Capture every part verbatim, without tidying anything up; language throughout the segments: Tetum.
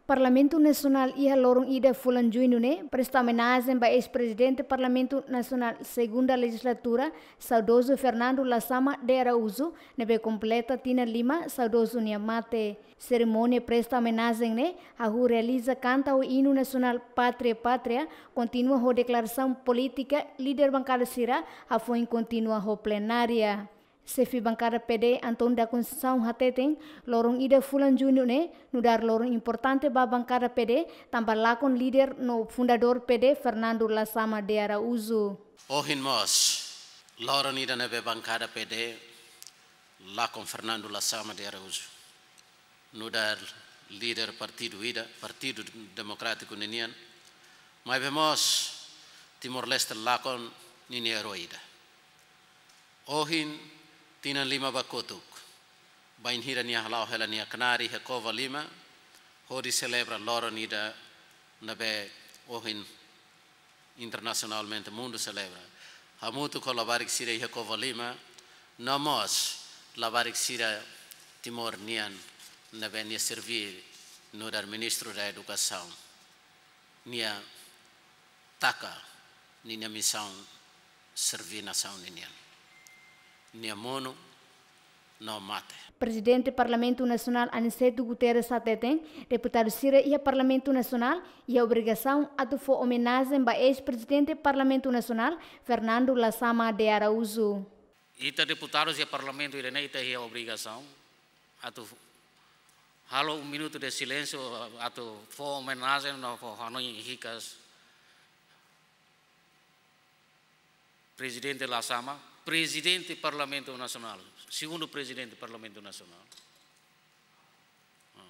Parlamentu Nasionál iha loron ida fulan Juñu ne'e presta omenajen ba eis-prezidente Parlamentu Nasionál Segunda Lejizlatura, saudozu Fernando Lasama de Araújo, ne'ebé kompleta tinan lima saudozu nia mate. Serimónia presta omenajen ne'e hahú realiza kanta ho inu nasionál Pátria Pátria, kontinua ho deklarasaun polítika líder bankada sira, hafoin kontinua ho plenária. Xefe bankada P D, António da Conceição hateten, loron ida fulan Juñu ne'e nu'udar loron importante ba bankada P D, tanba lakon líder no fundadór P D, Fernando Lasama de Araújo. Ohin mós, loron ida ne'ebé bankada P D lakon Fernando Lasama de Araújo, nu'udar líder partidu ida, Partidu Demokrátiku ninian, maibé mós Timor-Leste lakon ninia erói ida. Ohin, tinan lima ba kotuk, bainhira nia hala'o hela nia knaar iha Covalima, hodi selebra loron ida ne'ebé ohin internasionalmente mundu selebra. Hamutuk ho labarik sira iha Covalima, no mós labarik sira Timor nian ne'ebé nia serví nu'udar Ministru da Edukasaun. Nia taka ninia misaun serví nasaun ninian. Nia monu no mate. Prezidente Parlamentu Nasionál Aniceto Guterres hateten, deputadu sira iha Parlamentu Nasionál iha obrigasaun atu fó omenajen ba eis-prezidente Parlamentu Nasionál, Fernando Lasama de Araújo. Ita deputadus iha Parlamentu ida-ne'e ita iha obrigasaun atu halo um minuto de silêncio, atu fó omenajen no fó hanoin hikas Prezidente Lasama, Prezidente Parlamentu Nasionál, segundu Prezidente Parlamentu Nasionál. Ah.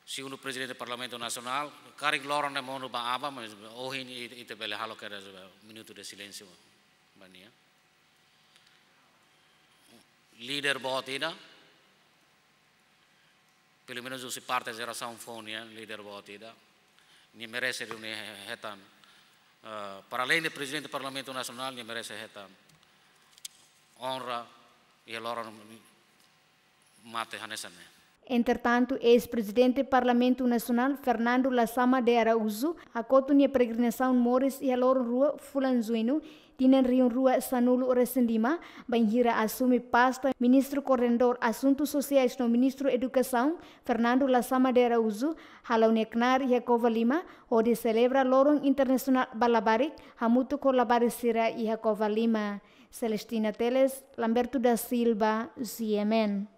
Segundu Prezidente Parlamentu Nasionál, karik loron ne'e monu ba aban, mas ohin i-, ita bele halo kedas minuto de silêncio ba nia. Líder boot ida, pelumenus husi parte jerasaun foun nian, líder boot ida. Nia merese duni hetan, eh, para além de Prezidente Parlamentu Nasionál, nia merese hetan onra iha loron mate hanesan ne'e. Entretantu, eis-prezidente Parlamentu Nasionál, Fernando Lasama de Araújo, hakotu nia peregrinasaun moris iha loron rua fulan Juñu, tinan rihun rua sanulu resin lima, bainhira asume pasta Ministru Koordenadór Asuntu Sosiais no Ministru Edukasaun, Fernando Lasama de Araújo, hala'o nia knaar iha Covalima, hodi selebra loron internasionál ba labarik, hamutuk ho labarik sira iha Covalima. Celestina Teles, Lamberto da Silva, G M N.